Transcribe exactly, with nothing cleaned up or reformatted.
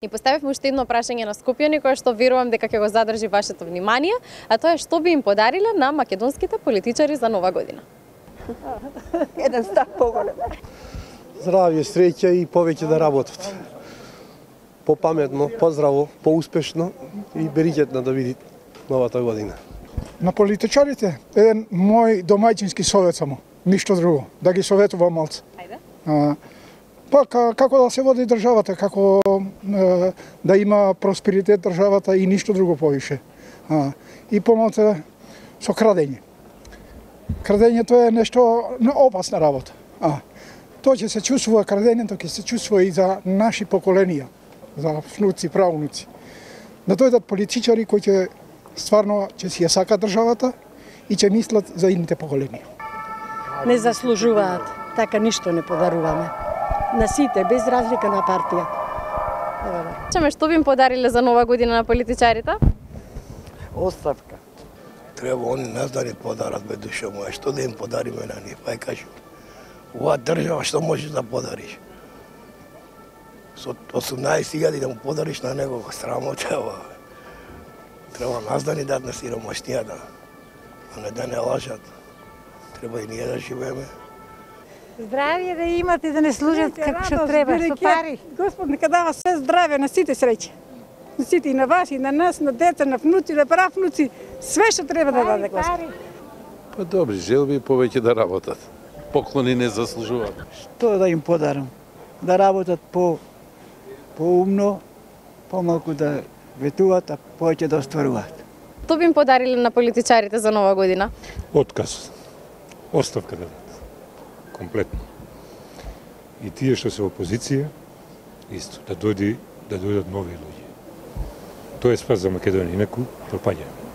Ни поставивме уште едно прашање на скопјани кое што верувам дека ќе го задржи вашето внимание, а тоа е што би им подариле на македонските политичари за нова година. Еден стак поголем. Здравје, среќа и повеќе да работат. Попаметно, поздраво, поуспешно и бериќетно да види новата година. На политичарите еден мој домаќински совет само, ништо друго, да ги советувам малце. Ајде. А, па како да се води државата, како а, да има просперитет државата и ништо друго повише. А, и помалце со крадење. Крадењето е нешто опасна работа. А, тоа ќе се чувствува крадењето, ќе се чувствува и за наши поколенија, за внуци, правнуци. Да дојдат политичари кои ќе стварно ќе си ја сакат државата и ќе мислат за идните поколенија. Не заслужуваат, така ништо не подаруваме. На сите, без разлика на партија. Чаме што би им подариле за нова година на политичарите? Оставка. Треба они нас да ни подарат, бе душа моја, што да им подариме на нив, па ја кажем. Ова држава што можеш да подариш? Со осумнаесет илјади да му подариш на некого, срамота ова. Треба нас да ни дадат на сиромашнијата, а не да не лажат. Треба и ние да живееме. Здравје да имате, да не служат како што треба, со пари. Господ нека дава се здраве на сите среќа. На сите, и на вас, и на нас, на деца, на внуци, на правнуци, све што треба да даде Господ. Па добри желби повеќе да работат. Поклони не заслужуваат. Што да им подарам? Да работат по поумно, помалку да ветуваат, а повеќе да остваруваат. Што би им подариле на политичарите за нова година? Отказ. Оставка да дадат. Комплетно. И тие што се опозиција, исто, да дојди, да дојдат нови луѓе. Тоа е спас за Македонија, инаку пропаѓаме.